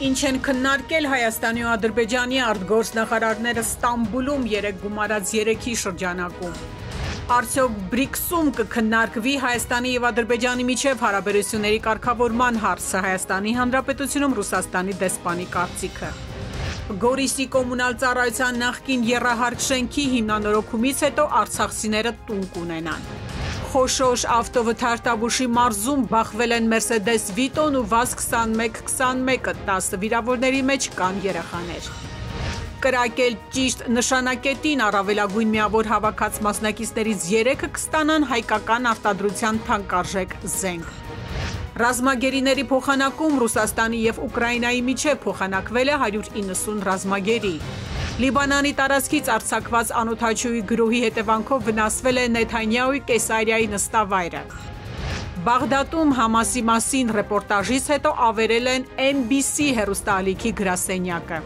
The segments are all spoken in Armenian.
Ինչ են քննարկել Հայաստանի ու Ադրբեջանի արտգործնախարարները Ստամբուլում երեկ գումարած երեքի շրջանակում։ Արդյոք BRICS-ում կքննարկվի Հայաստանի եւ Ադրբեջանի միջև հարաբերությունների կարգավորման հարցը, Հայաստանի Հանրապետությունում Ռուսաստանի դեսպանի կարծիքը։ Գորիսի կոմունալ ծառայության նախկին եռահարկ շենքի հիմնանորոգումից հետո արցախցիները տուն կունենան։ Խոշոշ ավտովթարթաբուշի մարզում բախվել են Mercedes Vito-ն ու VAZ-2121-ը, 10 վիրավորների մեջ կան երեխաներ։ Կրակել ճիշտ նշանակետին առավելագույն միավոր հավաքած մասնակիցներից 3-ը կստանան հայկական արտադրության թանկարժեք զենք։ Ռազմագերիների փոխանակում Ռուսաստանի եւ Ուկրաինայի միջև փոխանակվել է 190 ռազմագերի։ Լիբանանի տարածքից արձակված անօդաչուի գրոհի հետևանքով վնասվել է Նեթանյահուի Կեսարիայի նստավայրը։ Բաղդադում Համասի մասին ռեպորտաժից հետո ավերել են NBC հեռուստաալիքի գրասենյակը։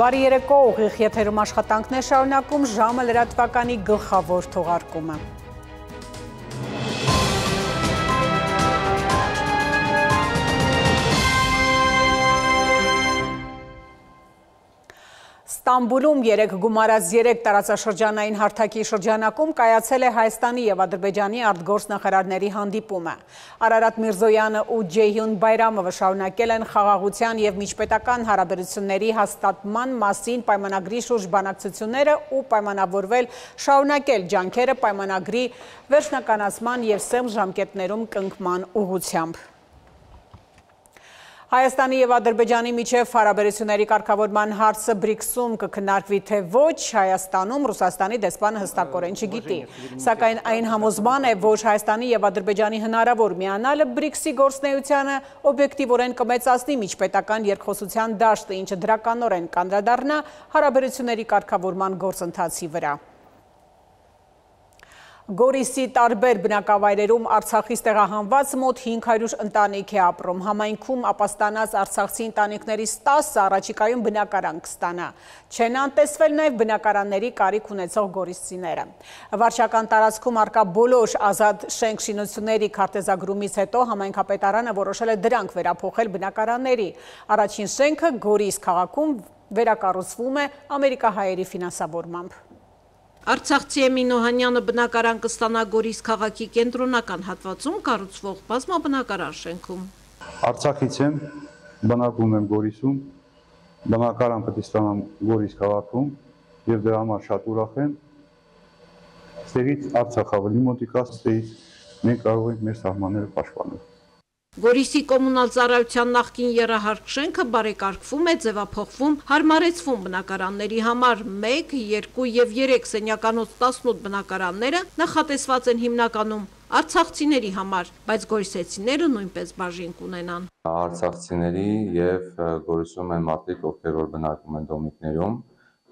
Բարի երեկո, ուղիղ եթերում աշխատանքներ շարունակում, ժամը լրատվականի գլխավոր թողարկումը։ Ստամբուլում երեկ գումարած 3 տարածաշրջանային հարթակի շրջանակում կայացել է Հայաստանի եւ Ադրբեջանի արտգործնախարարների հանդիպումը։ Արարատ Միրզոյանը ու Ջեյհուն Բայրամովը շարունակել են խաղաղության եւ միջպետական հարաբերությունների հաստատման մասին պայմանագրի շուրջ բանակցությունները ու պայմանավորվել շարունակել ջանքերը պայմանագրի վերջնականացման եւ սեմ ժամկետներում կնքման ուղղությամբ։ Հայաստանի եւ Ադրբեջանի միջև հարաբերությունների կարգավորման հարցը BRICS-ում կքննարկվի թե ոչ, Հայաստանում Ռուսաստանի դեսպանը հստակորեն չգիտի։ Սակայն այն համոզման է, որ Հայաստանի եւ Ադրբեջանի հնարավոր միանալը BRICS-ի գործունեությանը օբյեկտիվորեն կմեծացնի միջպետական երկխոսության դաշտը, ինչը դրականորեն կանդրադառնա հարաբերությունների կարգավորման գործընթացի վրա։ Գորիսի տարբեր բնակավայրերում Արցախից տեղահանված մոտ 500 ընտանիք է ապրում։ Համայնքում ապաստանած արցախցի ընտանիքներից 10-ը առաջիկայում բնակարան կստանա։ Չեն անտեսվել նաև բնակարանների կարիք ունեցող գորիսցիները։ Վարչական տարածքում առկա բոլոր ազատ շենք շինությունների քարտեզագրումից հետո համայնքապետարանը որոշել է դրանք վերափոխել բնակարանների։ Առաջին շենքը Գորիս քաղաքում վերակառուցվում է ամերիկահայերի ֆինանսավորմամբ։ Արցախցի Էմին Օհանյանը բնակարան կստանա Գորիս քաղաքի կենտրոնական հատվածում կառուցվող բազմաբնակարան շենքում։ Արցախից եմ, բնակվում եմ Գորիսում, բնակարան պետք է ստանամ Գորիս քաղաքում եւ դրա համար շատ ուրախ եմ։ Ստեղից Արցախ ավելի մոտիկա, ստեղից մենք կարող ենք մեր սահմանները պաշտպանել։ Գորիսի կոմունալ ծառայության նախկին եռահարկ շենքը բարեկարգվում է, ձևափոխվում, հարմարեցվում բնակարանների համար 1, 2 եւ 3 սենյականոց 18 բնակարանները նախատեսված են հիմնականում արցախցիների համար, բայց գորիսեցիները նույնպես բաժին կունենան։ Արցախցիների եւ Գորիսում են մարդիկ, ովքեր որ բնակվում են դոմիկներում,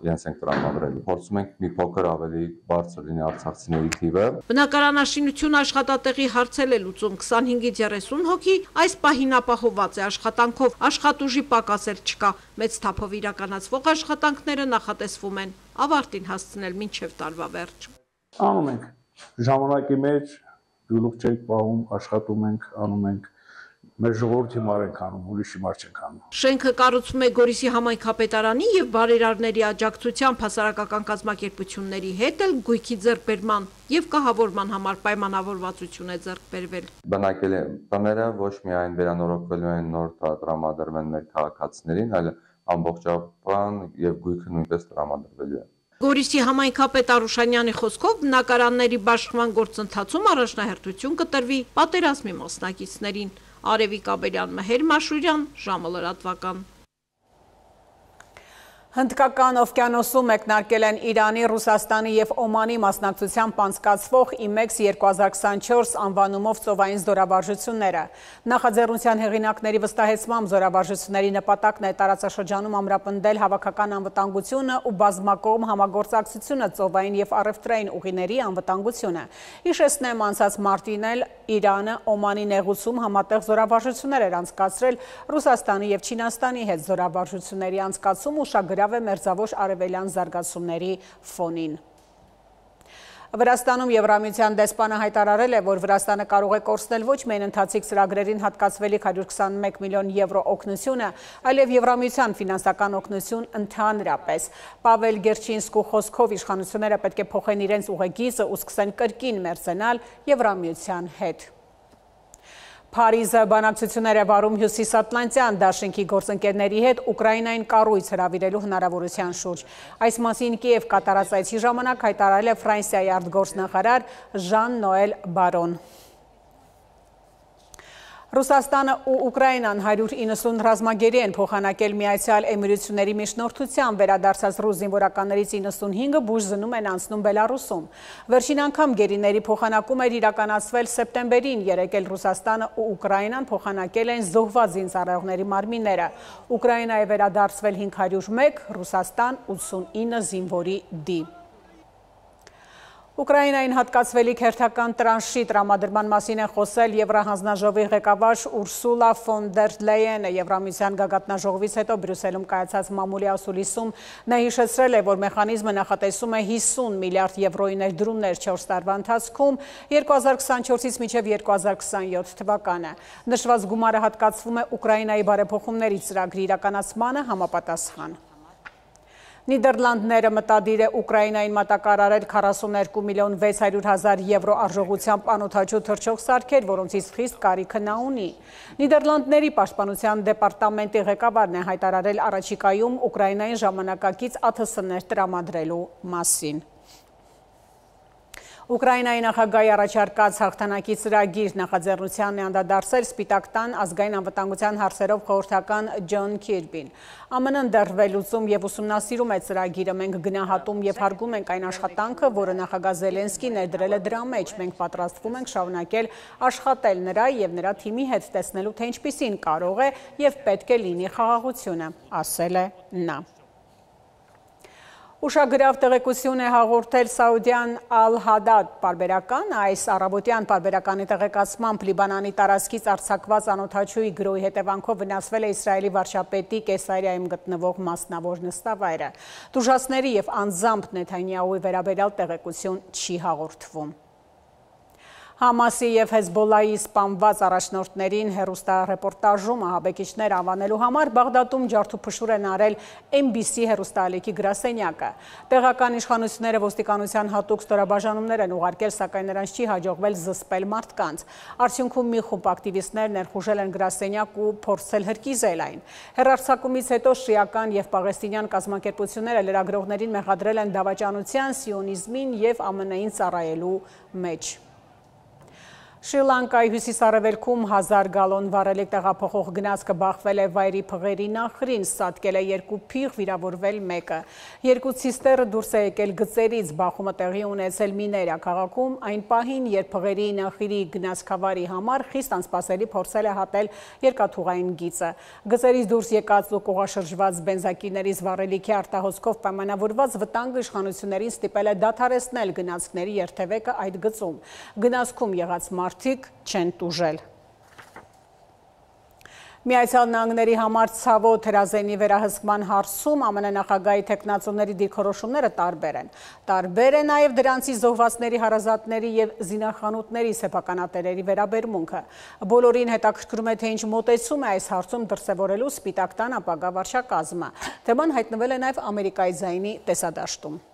իրենց ենք տրամադրել։ Փորձում ենք մի փոքր ավելի բարձր լինի արցախցիների թիվը։ Բնակարանաշինություն աշխատատեղի հարցել է լուծում 25-ից 30 հոգի, այս պահին ապահովված է աշխատանքով, աշխատուժի պակասել չկա։ Մեծ թափով իրականացվող աշխատանքները նախատեսվում են ավարտին հասցնել մինչև տարվա վերջ։ Անում ենք ժամանակի մեջ, գլուխ չենք պահում, աշխատում ենք, անում ենք։ Մեր ժողովրդի համար ենք անում, ուրիշի համար չենք անում։ Շենքը կառուցվում է Գորիսի համայնքապետարանի եւ բարերարների աջակցությամբ հասարակական կազմակերպությունների հետ էլ գույքի ձեռքբերման եւ կահավորման համար պայմանավորվածություն է ձեռք բերվել։ Բնակելի տները ոչ միայն վերանորոգվելու են, նոր տրամադրվեն մեր քաղաքացիներին, այլ ամբողջական եւ գույքը նույնպես տրամադրվելու է։ Գորիսի համայնքապետ Արուշանյանի խոսքով բնակարանների բաշխման գործընթացում առաջնահերթություն կտրվի պատերազմի մասնակիցներին։ Արևիկ Աբելյան, Մհեր Մաշուրյան, ժամը լրատվական։ Հնդկական օվկիանոսում մեկնարկել են Իրանի, Ռուսաստանի եւ Օմանի մասնակցությամբ անցկացվող IMEX 2024 անվանումով ծովային զորավարժությունները։ Նախաձեռնության հեղինակների վստահեցմամբ զորավարժությունների նպատակն է տարածաշրջանում ամրապնդել հավաքական անվտանգությունը ու բազմակողմ համագործակցությունը ծովային եւ առևտրային ուղիների անվտանգությունը։ Հիշեցնեմ, անցած մարտին էլ Իրանը Օմանի նեղուցում համատեղ զորավարժություններ էր անցկացրել Ռուսաստանի եւ Չինաստանի հետ զորավարժությունների անցկացում ուշագրավ է մերձավոր արևելյան զարգացումների ֆոնին։ Վրաստանում Եվրամիության դեսպանը հայտարարել է, որ Վրաստանը կարող է կորցնել ոչ միայն ընթացիկ ծրագրերին հատկացվելիք 121 միլիոն եվրո օգնությունը, այլև Եվրամիության ֆինանսական օգնություն ընդհանրապես։ Պավել Գերչինսկու խոսքով իշխանությունները պետք է փոխեն իրենց ուղեգիծը ու սկսեն կրկին մերձենալ Եվրամիության հետ։ Փարիզը բանակցություններ է վարում Հյուսիսատլանտյան դաշինքի գործընկերների հետ Ուկրաինային կառույց հրավիրելու հնարավորության շուրջ։ Այս մասին Կիև կատարած այցի ժամանակ հայտարարել է Ֆրանսիայի արտգործնախարար Ժան-Նոել Բարոն։ Ռուսաստանը ու Ուկրաինան 190 ռազմագերի են փոխանակել Միացյալ Էմիրությունների միջնորդությամբ, վերադարձած ռուս զինվորականներից 95-ը բուժզնում են անցնում Բելարուսում։ Վերջին անգամ գերիների փոխանակում էր իրականացվել սեպտեմբերին, երեկ էլ Ռուսաստանը ու Ուկրաինան փոխանակել են զոհված զինծառայողների մարմինները։ Ուկրաինա է վերադարձվել 501, Ռուսաստան 89 զինվորի դի։ Ուկրաինային հատկացվելիք հերթական տրանշի տրամադրման մասին է խոսել Եվրահանձնաժողովի ղեկավար Ուրսուլա ֆոն դեր Լեյենը։ Եվրամիության գագաթնաժողովից հետո Բրյուսելում կայացած մամուլի ասուլիսում նա հիշեցրել է, որ մեխանիզմը նախատեսում է 50 միլիարդ եվրոյի ներդրումներ 4 տարվա ընթացքում 2024-ից մինչև 2027 թվականը։ Նշված գումարը հատկացվում է Ուկրաինայի բարեփոխումների ծրագրի իրականացմանը համապատասխան։ Նիդերլանդները մտադիր է Ուկրաինային մատակարարել 42 միլիոն 600 հազար եվրո արժողությամբ անօդաչու թռչող սարքեր, որոնցից խիստ կարիքը նա ունի։ Նիդերլանդների պաշտպանության դեպարտամենտի ղեկավարն է հայտարարել առաջիկայում Ուկրաինային ժամանակակից ԱԹՍ-ներ տրամադրելու մասին։ Ուկրաինայի նախագահի առաջարկած հաղթանակի ծրագիր նախաձեռնությանն է անդրադարձել Սպիտակ տան ազգային անվտանգության հարցերով խորհրդական Ջոն Քիրբին։ ԱՄՆ-ն դեռ վերլուծում եւ ուսումնասիրում է ծրագիրը, մենք գնահատում եւ հարգում ենք այն աշխատանքը, որը նախագահ Զելենսկին ներդրել է դրա մեջ, մենք պատրաստվում ենք շարունակել աշխատել նրա եւ նրա թիմի հետ, տեսնելու թե ինչպիսին կարող է եւ պետք է լինի խաղաղությունը, ասել է նա։ Ուշագրավ տեղեկություն է հաղորդել Սաուդյան Ալ-Հադադ պարբերական, այս առավոտյան պարբերականի տեղեկացմամբ Լիբանանի տարածքից արձակված անօդաչուի գրոհի հետևանքով վնասվել է Իսրայելի վարչապետի Կեսարիայում գտնվող մասնավոր նստավայրը։ Տուժածների եւ անձամբ Նեթանյահուի վերաբերյալ տեղեկություն չի հաղորդվում։ Համասի և Հեզբոլայի սպանված առաջնորդներին հեռուստառեպորտաժում ահաբեկիչներ անվանելու համար Բաղդադում ջարդուփշուր են արել MBC հեռուստաալիքի գրասենյակը։ Տեղական իշխանությունները ոստիկանության հատուկ ստորաբաժանումներ են ուղարկել, սակայն նրանց չի հաջողվել զսպել մարդկանց։ Արդյունքում մի խումբ ակտիվիստներ ներխուժել են գրասենյակ ու փորձել հրկիզել այն։ Հեռարձակումից հետո շիական և պաղեստինյան կազմակերպությունները լրագրողներին մեղադրել են դավաճանության, սիոնիզմին և ԱՄՆ-ին ծառայելու մեջ։ Շրի Լանկայի հյուսիս-արևելքում 1000 գալոն վառելիք տեղափոխող գնացքը բախվել է վայրի փղերի նախրին, սատկել է 2 փիղ, վիրավորվել 1-ը։ 2 ցիստերը դուրս է եկել գծերից, բախումը տեղի ունեցել Միներիա քաղաքում, այն պահին, երբ փղերի նախիրի գնացքավարի համար խիստ անսպասելի փորձել է հատել երկաթուղային գիծը։ Գծերից դուրս եկած ու կողաշրջված բենզակիրներից վառելիքի արտահոսքով պայմանավորված վտանգը իշխանություններին ստիպել է դադարեցնել գնացքների երթևեկը այդ գծում։ Գնացքում եղած մարդիկ չեն տուժել։ Միացյալ Նահանգների համար ցավոտ հրազենի վերահսկման հարցում ԱՄՆ նախագահի թեկնածուների դիրքորոշումները տարբեր են։ Տարբեր է նաև դրանցի զոհվածների հարազատների եւ զինախանութների սեփականատերերի վերաբերմունքը։ Բոլորին հետաքրքրում է, թե ինչ մոտեցում է այս հարցում դրսևորելու Սպիտակ տան ապագա վարչակազմը։ Թեման հայտնվել է նաև Ամերիկայի ձայնի տեսադաշտում։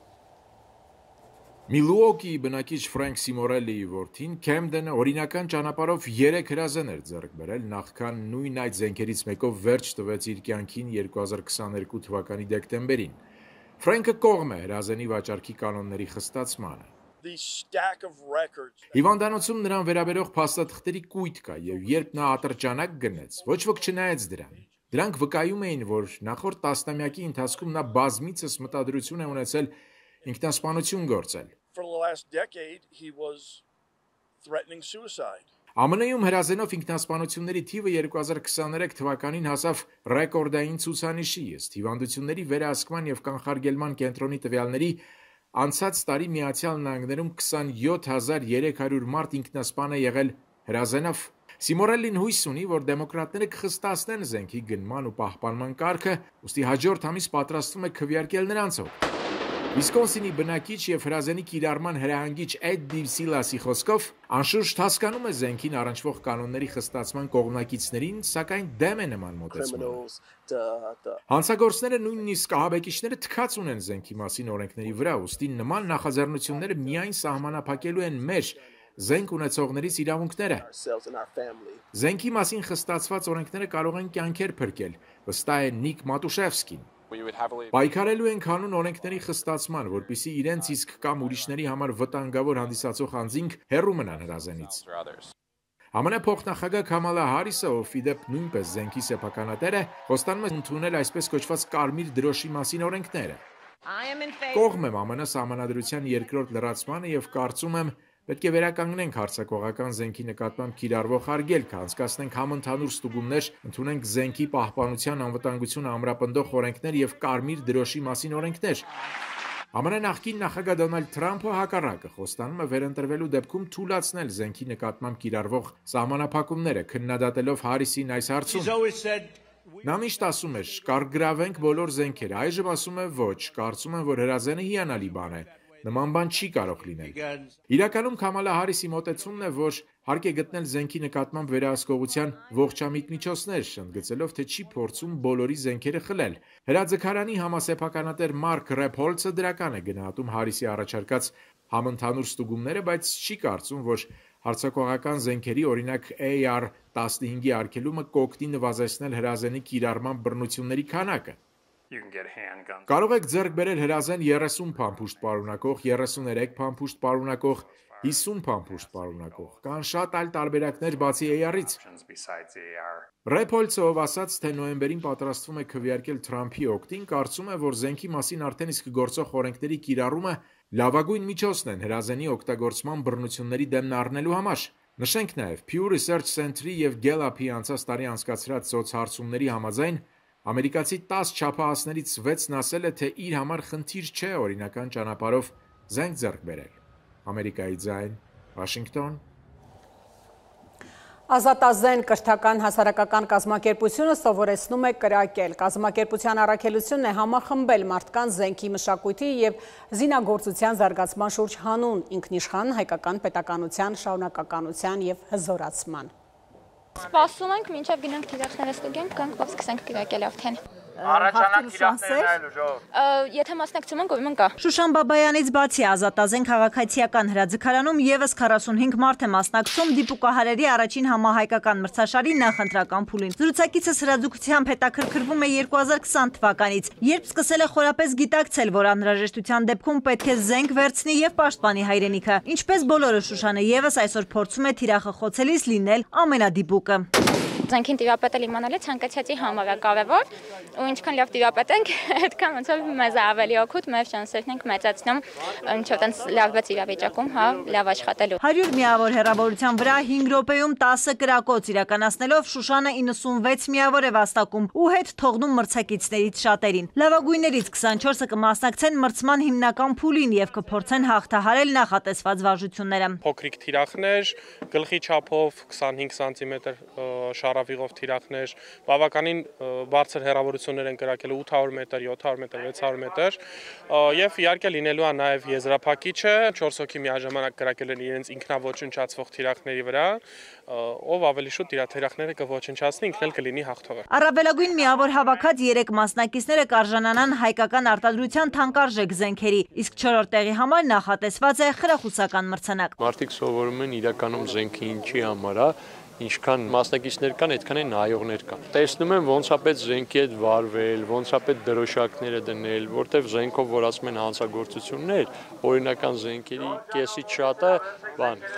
Միլուոկիի բնակիչ Ֆրենք Սիմորելիի որդին Քեմդենը օրինական ճանապարհով 3 հրազեն էր ձեռք բերել, նախքան նույն այդ զենքերից մեկով վերջ տվեց իր կյանքին 2022 թվականի դեկտեմբերին։ Ֆրենքը կողմ է հրազենի վաճառքի կանոնների խստացմանը։ Հիվանդանոցում նրան վերաբերող փաստաթղթերի կույտ կա, եւ երբ նա ատրճանակ գնեց, ոչ ոք չնայեց դրան։ Դրանք վկայում էին, որ նախորդ տասնամյակի ընթացքում նա բազմիցս մտադրություն է ունեցել ինքնասպանություն գործել։ ԱՄՆ-ում հրազենով ինքնասպանությունների թիվը 2023 թվականին հասավ ռեկորդային ցուցանիշի, ըստ հիվանդությունների վերահսկման եւ կանխարգելման կենտրոնի տվյալների անցած տարի Միացյալ Նահանգներում 27300 մարդ ինքնասպան է եղել հրազենով։ Սիմորելին հույս ունի, որ դեմոկրատները կխստացնեն զենքի գնման ու պահպանման կարգը, ուստի հաջորդ ամիս պատրաստվում է քվեարկել նրանցով։ Վիսկոնսինի բնակիչ եւ հրազենի կիրառման հրահանգիչ Էդ Դիվսիլասի խոսքով անշուշտ հասկանում է զենքին առնչվող կանոնների խստացման կողմնակիցներին, սակայն դեմ է նման մոտեցմանը։ Հանցագործները նույնիսկ ահաբեկիչները թքած ունեն զենքի մասին օրենքների վրա, ուստի նման նախաձեռնությունները միայն սահմանափակելու են մեր զենք ունեցողներից իրավունքները։ Զենքի մասին խստացված օրենքները կարող են կյանքեր փրկել, վստահ է Նիկ Մատուշևսկին։ Պայքարելու են կանոն օրենքների խստացման, որպեսզի իրենց իսկ կամ ուրիշների համար վտանգավոր հանդիսացող անձինք հեռու մնան հրազենից։ ԱՄՆ փոխնախագահ Քամալա Հարիսը, ով ի դեպ նույնպես զենքի սեփականատեր է, խոստանում է ընդունել այսպես կոչված կարմիր դրոշի մասին օրենքները։ Կողմ եմ ԱՄՆ սահմանադրության երկրորդ լրացմանը եւ կարծում եմ պետք է վերականգնենք հարձակողական զենքի նկատմամբ կիրառվող արգելքը, անցկացնենք համընդհանուր ստուգումներ, ընդունենք զենքի պահպանության անվտանգությունը ամրապնդող օրենքներ եւ կարմիր դրոշի մասին օրենքներ։ ԱՄՆ նախկին նախագահ Դոնալդ Թրամփը հակառակը խոստանում է վերընտրվելու դեպքում թույլատրել զենքի նկատմամբ կիրառվող սահմանափակումները, քննադատելով Հարիսին այս հարցում։ Նա միշտ ասում էր՝ կարգգրավենք բոլոր զենքերը, այժմ ասում է ոչ, կարծում եմ, որ հրազենը հիանալի բան է։ Նման բան չի կարող լինել։ Իրականում Քամալա Հարիսի մոտեցումն է, որ հարկ է գտնել զենքի նկատմամբ վերահսկողության ողջամիտ միջոցներ, ընդգծելով, թե չի փորձում բոլորի զենքերը խլել։ Հրաձգարանի համասեփականատեր Մարկ Ռեփոլցը դրական է գնահատում Հարիսի առաջարկած համընդհանուր ստուգումները, բայց չի կարծում, որ հարձակողական զենքերի, օրինակ AR-15-ի արգելումը կօգնի նվազեցնել հրազենի կիրառման բռնությունների քանակը։ Կարող եք ձեռք բերել հրազեն 30 փամփուշտ պարունակող, 33 փամփուշտ պարունակող, 50 փամփուշտ պարունակող, կան շատ այլ տարբերակներ բացի AR-ից։ Ռեփոլցը, ով ասաց, թե նոյեմբերին պատրաստվում է քվեարկել Թրամփի օգտին, կարծում է, որ զենքի մասին արդեն իսկ գործող օրենքների կիրառումը լավագույն միջոցն են հրազենի օգտագործման բռնությունների դեմն առնելու համար։ Նշենք նաև Pew Research Center-ի եւ Gallup-ի անցած տարի անցկացրած սոցհարցումների համաձայն ամերիկացի 10 չափահասներից 6-ն ասել է, թե իր համար խնդիր չէ օրինական ճանապարհով զենք ձեռք բերել։ Ամերիկայի ձայն, Վաշինգտոն։ Ազատազեն կրթական հասարակական կազմակերպությունը սովորեցնում է կրակել։ Կազմակերպության առաքելությունն է համախմբել մարդկանց զենքի մշակույթի եւ զինագործության զարգացման շուրջ հանուն ինքնիշխան հայկական պետականության շարունակականության եւ հզորացման։ Սպասում ենք, մինչև գնանք թիրախները ստուգենք, գանք ով սկսենք կրակել արդեն։ Առաջանակ թիրախներն Եթե մասնակցում ենք, ուրեմն կա։ Շուշան Բաբայանից բացի Ազատազեն քաղաքացիական հրաձգարանում եւս 45 մարդ է մասնակցում դիպուկահարերի առաջին համահայկական մրցաշարի նախընտրական փուլին։ Զրուցակիցս հրաձգությամբ հետաքրքրվում է 2020 թվականից, երբ սկսել է խորապես գիտակցել, որ անհրաժեշտության դեպքում պետք է զենք վերցնի եւ պաշտպանի հայրենիքը։ Ինչպես բոլորը, Շուշանը եւս այսօր փորձում է թիրախը խոցելիս լինել ամենադիպուկը։ Զենքին տիրապետել իմանալը ցանկացածի համար է կարևոր, ու ինչքան լավ տիրապետենք, այդքան ոնց որ մեզ ավելի օգուտ, մեր շանսերն ենք մեծացնում, ինչ որ տենց լավված իրավիճակում, հա, լավ աշխատելու։ 100 միավոր հեռավորության վրա 5 րոպեում 10 կրակոց իրականացնելով Շուշանը 96 միավոր է վաստակում ու հետ թողնում մրցակիցներից շատերին։ Լավագույններից 24-ը կմասնակցեն մրցման հիմնական փուլին եւ կփորձեն հաղթահարել նախատեսված վարժությունները։ Փոքրիկ թիրախներ, գլխի չափով 25 սանտիմետր շարավիղով թիրախներ, բավականին բարձր հեռավորություններ են կրակել 800 մետր, 700 մետր, 600 մետր եւ իհարկե լինելու է նաեւ եզրափակիչը 4 հոգի միաժամանակ կրակել են իրենց ինքնաոչնչացվող թիրախների վրա, ով ավելի շուտ իր թիրախները կոչնչացնի, ինքն էլ կլինի հաղթողը։ Առավելագույն միավոր հավաքած 3 մասնակիցները կարժանանան հայկական արտադրության թանկարժեք զենքերի, իսկ 4-րդ տեղի համար նախատեսված է խրախուսական մրցանակ։ Մարդիկ սովորում են իրականում զենքը ինչի համար է, ինչքան մասնակիցներ կան, այդքան է նայողներ կան։ Տեսնում են ոնց է պետք զենքի հետ վարվել, ոնց է պետք դրոշակները դնել, որտեվ զենքով որ ասում են հանցագործություններ, օրինական զենքերի կեսից շատը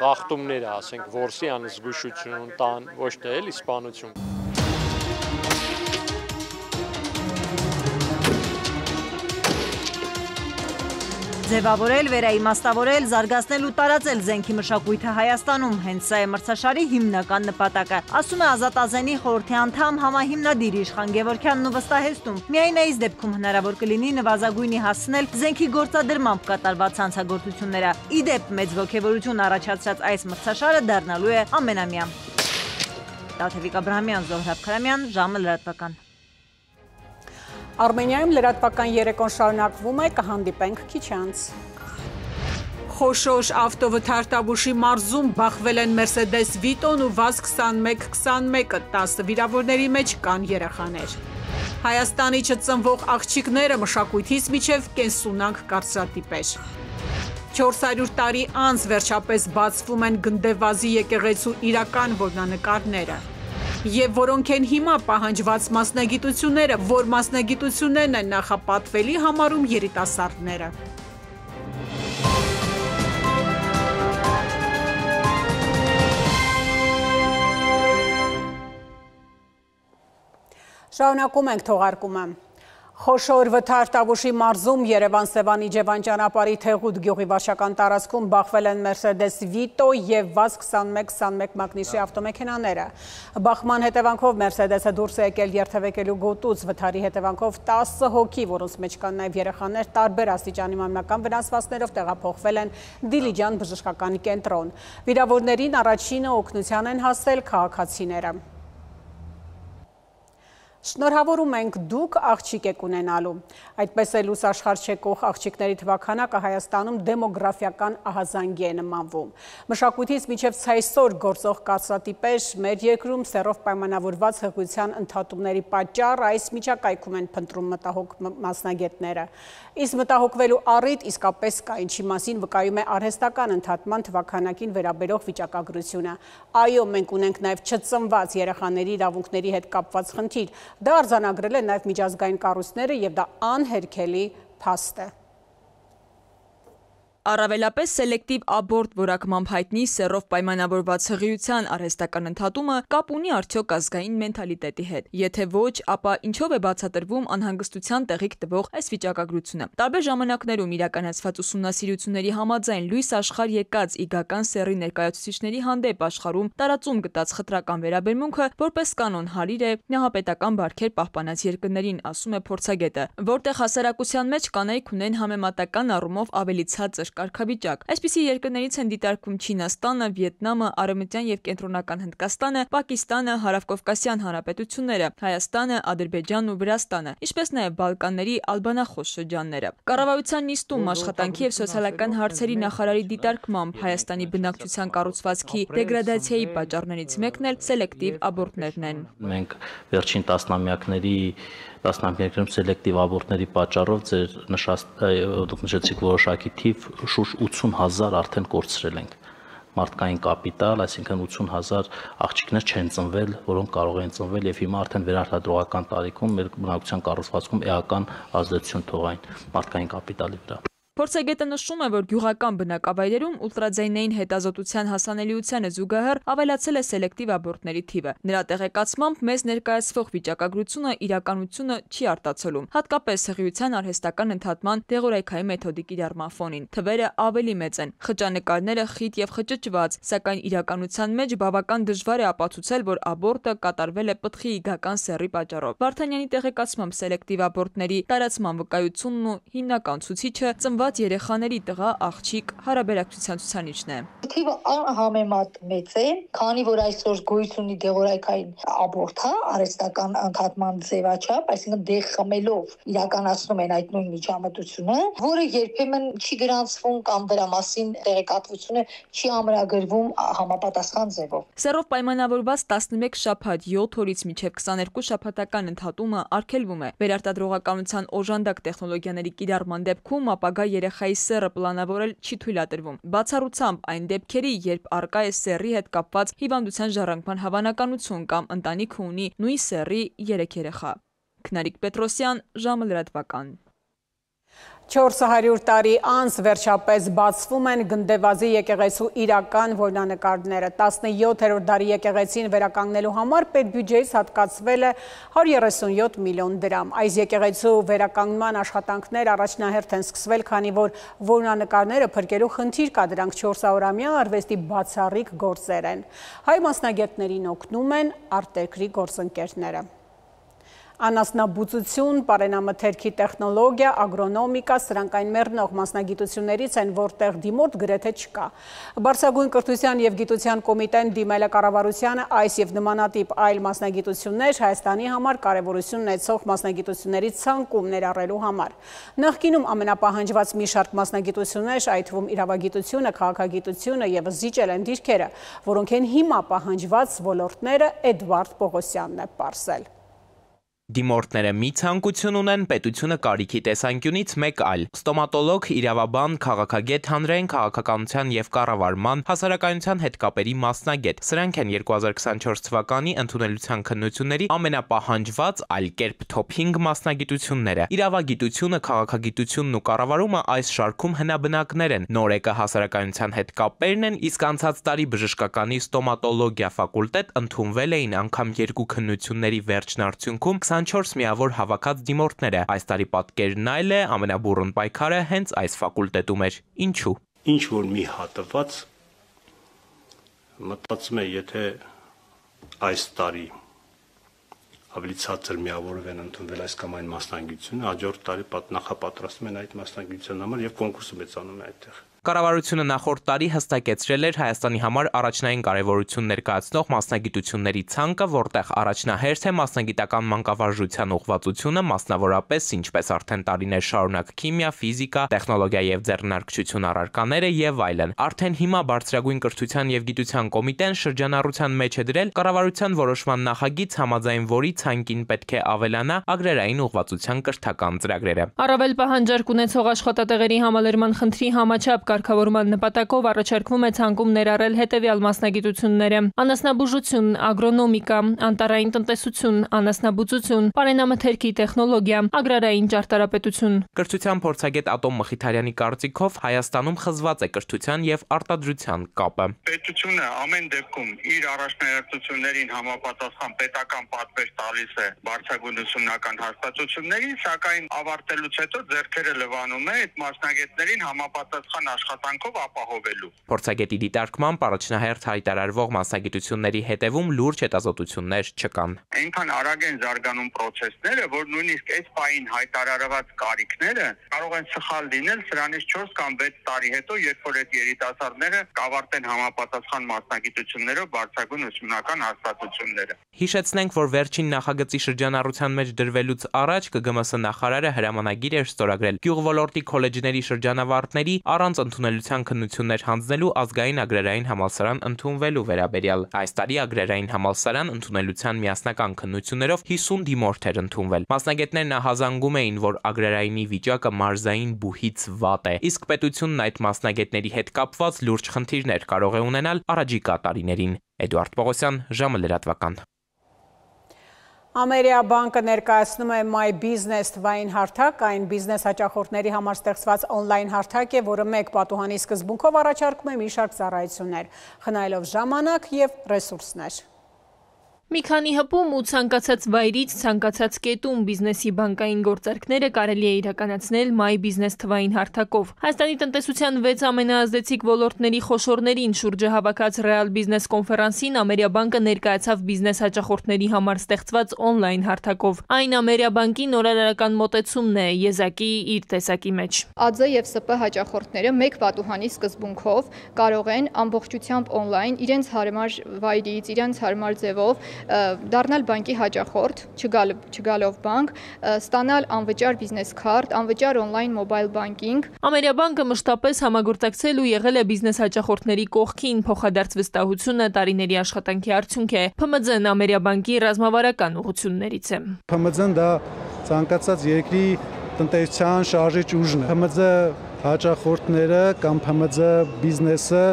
խախտումներ է, ասենք, որսի անզգուշություն, տան, ոչ թե էլի սպանություն։ Ձևավորել, վերաիմաստավորել, զարգացնել ու տարածել զենքի մշակույթը Հայաստանում, հենց սա է մրցաշարի հիմնական նպատակը, ասում է Ազատազենի խորհրդի անդամ համահիմնադիր Իշխան Գևորգյանն ու վստահեցնում, միայն այս դեպքում հնարավոր կլինի նվազագույնի հասցնել զենքի գործադրմամբ կատարված հանցագործությունները։ Ի դեպ, մեծ ոգևորություն առաջացրած այս մրցաշարը դառնալու է ամենամյա։ Տաթևիկ Աբրահամյան, Զոհրաբ Քարամյան, ժամը լրատվական։ Արմենիայում լրատվական երեկոն շարունակվում է, կհանդիպենք քիչ անց։ Խոշոր ավտովթարթավուշի մարզում բախվել են Mercedes Vito-ն ու VAZ 2121-ը, 10 վիրավորների մեջ կան երեխաներ։ Հայաստանի չծնվող աղջիկները մշակույթից մինչև կենսունակ կարծրատիպեր։ 400 տարի անց վերջապես բացվում են Գնդեվազի եկեղեցու իրական որմնանկարները։ Եվ որոնք են հիմա պահանջված մասնագիտությունները, որ մասնագիտություններն են նախապատվելի համարում երիտասարդները։ Շարունակում ենք թողարկումը։ Խոշոր վթարթավուշի մարզում Երևան-Սևան Իջևան ճանապարհի Թեղուտ գյուղի վարչական տարածքում բախվել են Mercedes Vito և VAZ 2121 մակնիշի ավտոմեքենաները։ Բախման հետևանքով Mercedes-ը դուրս է եկել երթևեկելու գոտուց, վթարի հետևանքով 10 հոգի, որոնց մեջ կան նաև երեխաներ, տարբեր աստիճանի մարմնական վնասվածքներով տեղափոխվել են Դիլիջան բժշկական կենտրոն։ Վիրավորներին առաջինը օգնության են հասել քաղաքացիները։ Շնորհավորում ենք, դուք աղջիկ եք ունենալու։ Այդպես է լույս աշխարհ չեկող աղջիկների թվաքանակը Հայաստանում դեմոգրաֆիական ահազանգի է նմանվում։ Մշակույթից մինչև այսօր գործող կարծրատիպեր մեր երկրում սեռով պայմանավորված հղիության ընդհատումների պատճառ այս միջակայքում են փնտրում մտահոգ մասնագետները։ Իսկ մտահոգվելու առիթ իսկապես կա, ինչի մասին վկայում է արհեստական ընդհատման թվաքանակին վերաբերող վիճակագրությունը։ Այո, մենք ունենք նաև չծնված երեխաների իրավունքների հետ կապված խնդիր։ Դա արձանագրել են նաև միջազգային կառույցները և դա անհերքելի փաստ է։ Առավելապես սելեկտիվ աբորտ որակմամբ հայտնի սեռով պայմանավորված հղիության արհեստական ընդհատումը կապ ունի արդյոք ազգային մենթալիտետի հետ։ Եթե ոչ, ապա ինչով է բացատրվում անհանգստության տեղիք տվող այս վիճակագրությունը։ Տարբեր ժամանակներում իրականացված ուսումնասիրությունների համաձայն լույս աշխարհ եկած իգական սեռի ներկայացուցիչների հանդեպ աշխարհում տարածում գտած խտրական վերաբերմունքը որպես կանոն հարիր է նահապետական բարքեր պահպանած երկրներին, ասում է փորձագետը, որտեղ հասարակության մեջ կանայք ունեն համեմատական առումով ավելի ցածր կարգավիճակ։ Այսպիսի երկրներից են դիտարկվում Չինաստանը, Վիետնամը, Արևմտյան և Կենտրոնական Հնդկաստանը, Պակիստանը, Հարավկովկասյան հանրապետությունները, Հայաստանը, Ադրբեջանն ու Վրաստանը, ինչպես նաև Բալկանների ալբանախոս շրջանները։ Կառավարության նիստում աշխատանքի և սոցիալական հարցերի նախարարի դիտարկմամբ Հայաստանի բնակչության կառուցվածքի դեգրադացիայի պատճառներից մեկն էլ սելեկտիվ աբորտներն են։ Մենք վերջին տասնամյակներում սելեկտիվ աբորտների պատճառով դուք նշեցիք որոշակի թիվ շուրջ 80,000 արդեն կորցրել ենք մարդկային կապիտալ, այսինքն 80,000 աղջիկներ չեն ծնվել, որոնք կարող են ծնվել եւ հիմա արդեն վերարտադրողական տարիքում մեր բնակչության կառուցվածքում էական ազդեցություն թողային մարդկային կապիտալի վրա։ Փորձագետը նշում է, որ գյուղական բնակավայրերում ուլտրաձայնային հետազոտության հասանելիությանը զուգահեռ ավելացել է սելեկտիվ աբորտների թիվը։ Նրա տեղեկացմամբ մեզ ներկայացվող վիճակագրությունը իրականությունը չի արտացոլում, հատկապես հղիության արհեստական ընդհատման դեղորայքայի մեթոդի կիրառման ֆոնին։ Թվերը ավելի մեծ են, խճանկարները խիտ եւ խճճված, սակայն իրականության մեջ բավական դժվար է ապացուցել, որ աբորտը կատարվել է պտղի իգական սեռի պատճառով։ Վարդանյանի տեղեկացմամբ սելեկտիվ աբորտների տարածման վկայությունն ու հիմնական ցուցիչը երեխաների տղա աղջիկ հարաբերակցության ցուցանիշն է։ Թիվը անհամեմատ մեծ է, քանի որ այսօր գոյություն ունի դեղորայքային աբորտը, արհեստական ընդհատման ձևաչափ, այսինքն դեղ խմելով իրականացնում են այդ նույն միջամտությունը, որը երբեմն չի գրանցվում կամ դրա մասին տեղեկատվությունը չի ամրագրվում համապատասխան ձևով։ Սեռով պայմանավորված 11 շաբաթ 7 օրից մինչև 22 շաբաթական ընդհատումը արգելվում է։ Վերարտադրողականության օժանդակ տեխնոլոգիաների կիրառման դեպքում ապագա երեխայի սեռը պլանավորել չի թույլատրվում։ Բացառությամբ այն դեպքերի, երբ առկա է սեռի հետ կապված հիվանդության ժառանգման հավանականություն կամ ընտանիքը ունի նույն սեռի 3 երեխա։ Քնարիկ Պետրոսյան, ժամը լրատվական։ 400 տարի անց վերջապես բացվում են Գնդեվազի եկեղեցու իրական որմնանկարները։ 17-րդ դարի եկեղեցին վերականգնելու համար պետբյուջեից հատկացվել է 137 միլիոն դրամ։ Այս եկեղեցու վերականգնման աշխատանքներ առաջնահերթ են սկսվել, քանի որ որմնանկարները փրկելու խնդիր կա, դրանք 400-ամյա արվեստի բացառիկ գործեր են։ Հայ մասնագետներին օգնում են արտերկրի գործընկերները։ Անասնաբուծություն, պարենամթերքի տեխնոլոգիա, ագրոնոմիկա, սրանք այն մեռնող մասնագիտություններից են, որտեղ դիմորդ գրեթե չկա։ Բարձրագույն կրթության և գիտության կոմիտեն դիմել է կառավարությանը այս և նմանատիպ այլ մասնագիտություններ Հայաստանի համար կարևորություն ունեցող մասնագիտությունների ցանկում ներառելու համար։ Նախկինում ամենապահանջված մի շարք մասնագիտություններ, այդ թվում իրավագիտությունը, քաղաքագիտությունը և զիջել են դիրքերը, որոնք են հիմա պահանջված ոլորտները, Էդվարդ Պողոսյանն է պարզել։ Դիմորդները մի ցանկություն ունեն, պետությունը կարիքի տեսանկյունից մեկ այլ։ Ստոմատոլոգ, իրավաբան, քաղաքագետ, հանրային քաղաքականության և կառավարման, հասարակայնության հետ կապերի մասնագետ։ Սրանք են 2024 թվականի ընդունելության քննությունների ամենապահանջված, այլ կերպ թոփ 5 մասնագիտությունները։ Իրավագիտությունը, քաղաքագիտությունն ու կառավարումը այս շարքում հնաբնակներ են։ Նորեկը հասարակայնության հետ կապերն են, իսկ անցած տարի բժշկականի ստոմատոլոգիա ֆակուլտետ ընդունվել էին անգամ 2 քննությունների վերջնարդյունքում 24 միավոր հավաքած դիմորդները։ Այս տարի պատկերն այլ է, ամենաբուռն պայքարը հենց այս ֆակուլտետում էր։ Ինչու։ Ինչ որ մի հատված մտածում է, եթե այս տարի ավելի ցածր միավորով են ընդունվել այս կամ այն մասնագիտությունը, հաջորդ տարի նախապատրաստում են այդ մասնագիտության համար եւ կոնկուրսը մեծանում է այդտեղ։ Կառավարությունը նախորդ տարի հստակեցրել էր Հայաստանի համար առաջնային կարևորություն ներկայացնող մասնագիտությունների ցանկը, որտեղ առաջնահերթ է մասնագիտական մանկավարժության ուղղվածությունը, մասնավորապես ինչպես արդեն տարիներ շարունակ քիմիա, ֆիզիկա, տեխնոլոգիա եւ ձեռնարկչություն առարկաները եւ այլն։ Արդեն հիմա Բարձրագույն կրթության եւ գիտության կոմիտեն շրջանառության մեջ է դրել կառավարության որոշման նախագիծ, համաձայն որի ցանկին պետք է ավելանա agrarային ուղղվածության կրթական ծրագրերը։ Առավել պահանջարկ ունեցող աշխատատեղերի համալրման խնդրի համաչափ կարգավորման նպատակով առաջարկվում է ցանկում ներառել հետևյալ մասնագիտությունները՝ անասնաբուժություն, ագրոնոմիկա, անտառային տնտեսություն, անասնաբուծություն, պարենամթերքի տեխնոլոգիա, ագրարային ճարտարապետություն։ Կրթության փորձագետ Ատոմ Մխիթարյանի կարծիքով Հայաստանում խզված է կրթության եւ արտադրության կապը։ Պետությունը ամեն դեպքում իր առաջնահերթություններին համապատասխան պետական պատվեր տալիս է բարձրագույն ուսումնական հաստատություններին, սակայն ավարտելուց հետո ձեռքերը լվանում է այդ մասնագետներին համապատասխան աշխատանքով ապահովելու։ Փորձագետի դիտարկմամբ առաջնահերթ հայտարարվող մասնագիտությունների հետևում լուրջ հետազոտություններ չկան։ Այնքան արագ են զարգանում պրոցեսները, որ նույնիսկ այս պահին հայտարարված կարիքները կարող են սխալ լինել սրանից 4 կամ 6 տարի հետո, երբ որ այդ երիտասարդները կավարտեն համապատասխան մասնագիտություններով բարձրագույն ուսումնական հաստատությունները։ Հիշեցնենք, որ վերջին նախագծի շրջանառության մեջ դրվելուց առաջ ԿԳՄՍ նախարարը հրամանագիր էր ստորագրել գյուղոլորտի քոլեջների շրջանավարտների առանց ընդունելության քննություններ հանձնելու ազգային agrarային համալսարան ընդունվելու վերաբերյալ։ Այս տարի agrarային համալսարան ընդունելության միասնական քննություններով 50 դիմորդ էր ընդունվել։ Մասնագետներն ահազանգում էին, որ agrarայինի վիճակը մարզային բուհից վատ է, իսկ պետությունն այդ մասնագետների հետ կապված լուրջ խնդիրներ կարող է ունենալ առաջիկա տարիներին։ Էդվարդ Պողոսյան, ժամը լրատվական։ Ամերիաբանկը ներկայացնում է My Business թվային հարթակ, այն բիզնես հաճախորդների համար ստեղծված օնլայն հարթակ է, որը մեկ պատուհանի սկզբունքով առաջարկում է մի շարք ծառայություններ, խնայելով ժամանակ և ռեսուրսներ։ Մի քանի հպում ու ցանկացած վայրից, ցանկացած կետում բիզնեսի բանկային գործարքները կարելի է իրականացնել My Business թվային հարթակով։ Հայաստանի տնտեսության 6 ամենաազդեցիկ ոլորտների խոշորներին շուրջը հավաքած Real Business կոնֆերանսին Ամերիաբանկը ներկայացավ բիզնես հաճախորդների համար ստեղծված օնլայն հարթակով։ Այն Ամերիաբանկի նորարարական մոտեցումն է եզակի իր տեսակի մեջ։ ԱՁ և ՍՊ հաճախորդները մեկ պատուհանի սկզբունքով կարող են ամբողջությամբ օնլայն իրենց հարմար վայրից, իրենց հարմար ձևով դառնալ բանկի հաճախորդ, չգալով բանկ, ստանալ անվճար բիզնես քարտ, անվճար օնլայն մոբայլ բանկինգ։ Ամերիաբանկը մշտապես համագործակցել ու եղել է բիզնես հաճախորդների կողքին, փոխադարձ վստահությունը տարիների աշխատանքի արդյունք է։ ՓՄՁ-ն Ամերիաբանկի ռազմավարական ուղղություններից է։ ՓՄԶ-ն դա ցանկացած երկրի տնտեսության շարժիչ ուժն է։ ՓՄԶ հաճախորդները կամ ՓՄԶ բիզնեսը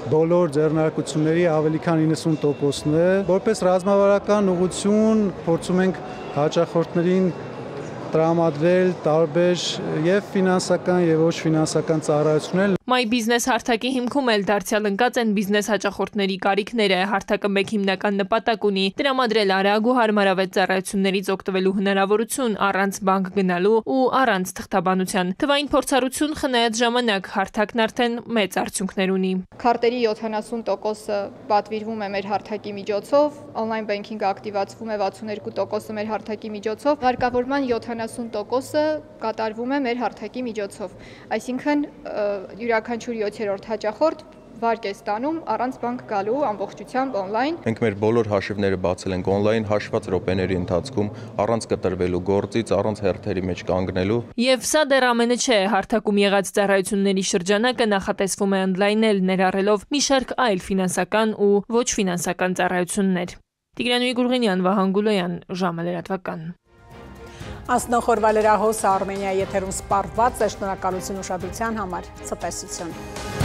բոլոր ձեռնարկությունների ավելի քան 90%-ն է։ Որպես ռազմավարական ուղղություն փորձում ենք հաճախորդներին տրամադրել տարբեր եւ ֆինանսական եւ ոչ ֆինանսական ծառայություններ։ My Business հարթակի հիմքում էլ դարձյալ ընկած են բիզնես հաճախորդների կարիքները։ Հարթակը մեկ հիմնական նպատակ ունի՝ տրամադրել արագ ու հարմարավետ ծառայություններից օգտվելու հնարավորություն առանց բանկ գնալու ու առանց թղթաբանության։ Թվային փորձառություն խնայած ժամանակ հարթակն արդեն մեծ արդյունքներ ունի։ Քարտերի 70%-ը պատվիրվում է մեր հարթակի միջոցով, on-line banking-ը ակտիվացվում է 62%-ը մեր հարթակի միջոցով, ղեկավարման 70%-ը կատարվում է մեր հարթակի միջոցով։ Այսինքն յուրաքանչյուր 7-րդ հաճախորդ վարկ է ստանում առանց բանկ գալու ամբողջությամբ on-line։ Մենք մեր բոլոր հաշիվները բացել ենք on-line հաշված րոպեների ընթացքում, առանց կտրվելու գործից, առանց հերթերի մեջ կանգնելու։ Եվ սա դեռ ամենը չէ, հարթակում եղած ծառայությունների շրջանակը նախատեսվում է ընդլայնել, ներառելով մի շարք այլ ֆինանսական ու ոչ ֆինանսական ծառայություններ։ Տիգրան Գուրգենյան, Վահան Գուլոյան, ժամը լրատվական։ Անցնողորվա լրահոսը Արմենիայի եթերում սպառված է, շնորհակալություն ուշադրության համար, ցտեսություն։